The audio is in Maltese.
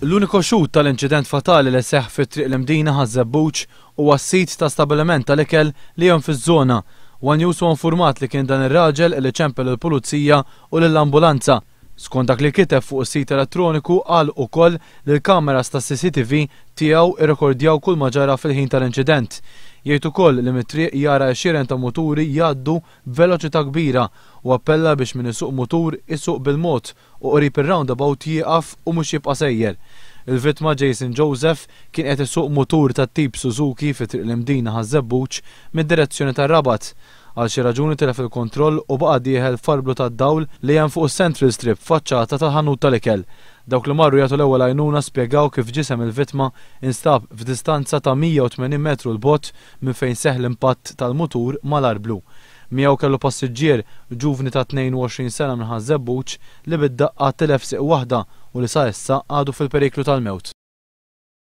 L-uniku xhud tal-inċident fatali li seħħ fi Triq l-Imdina Ħaż-Żebbuġ huwa s-sid ta' stabiliment tal-ikel li hemm fiż-żona. One News huwa infurmat li kien dan ir-raġel li ċempel lill-Pulizija u lill-ambulanza. Skont dak li kiteb fuq is-sit elettroniku qal ukoll li l-kameras tas-CCTV tiegħu irrekordjaw kull ma ġara fil-ħin tal-inċident. Jgħid ukoll li mit-triq jara għexieren ta' muturi jgħaddu b'veloċità kbira u appella biex min isuq mutur isuq bil-mod u qrib ir-roundabout jieqaf u mhux jibqa' sejjer. Il-vittma Jason Joseph kien qed isuq mutur tat-tip Suzuki fi Triq l-Imdina Ħaż-Żebbuġ mid-direzzjoni tar-Rabat. Għal xi raġuni tilef il-kontroll u baqa' dieħel f'arblu tad-dawl li hemm fuq is-Central Strip faċċata tal-ħanut tal-ikel. Dawk li marru jagħtu l-ewwel għajnuna spjegaw kif ġisem il-vittma instab f'distanza ta' 180 metru 'l bogħod minn fejn seħħ l-impatt tal-mutur mal-arblu. Miegħu kellu passiġġier, ġuvni ta' 22 sena minn Ħaż-Żebbuġ li bid-daqqa tilef sieq waħda u li sa issa għadu fil-periklu tal-mewt.